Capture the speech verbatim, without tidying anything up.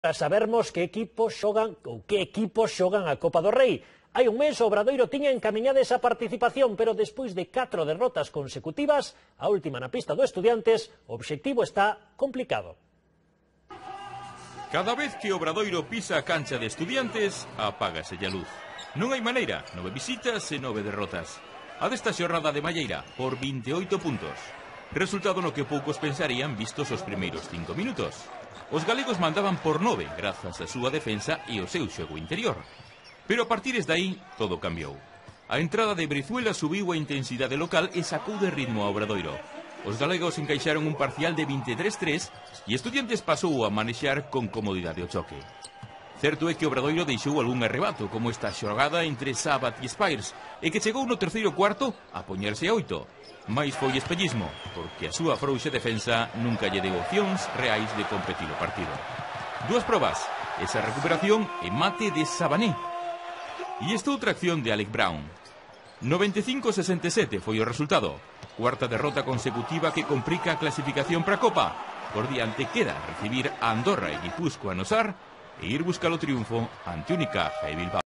Para sabermos que equipos xogan ou que equipos xogan a Copa do Rei. Hai un mes o Obradoiro tiña encaminhada esa participación, pero despois de catro derrotas consecutivas, a última na pista do Estudiantes, o obxectivo está complicado. Cada vez que o Obradoiro pisa a cancha de Estudiantes, apágase a luz. Non hai maneira, nove visitas e nove derrotas. A desta xornada de Malleira, por vinte e oito puntos. Resultado no que poucos pensarían vistos os primeiros cinco minutos. Os galegos mandaban por nove grazas á súa defensa e ao seu xogo interior. Pero a partir de aí, todo cambiou. A entrada de Brizuela subiu a intensidade local e sacou de ritmo a Obradoiro. Os galegos encaixaron un parcial de vinte e tres a tres e Estudiantes pasou a manexar con comodidade o choque. Certo é que Obradoiro deixou algún arrebato, como esta xogada entre Sabat e Spires, e que chegou no terceiro cuarto a poñerse a oito. Mais foi espellismo, porque a súa frouxa defensa nunca lle deu opcións reais de competir o partido. Dúas probas, esa recuperación e mate de Sabané. E esta outra acción de Alec Brown. noventa e cinco a sesenta e sete foi o resultado. Cuarta derrota consecutiva que complica a clasificación para a Copa. Por diante queda recibir a Andorra e Guipúzcoa no Sar e ir buscar o triunfo ante Unicaja e Bilbao.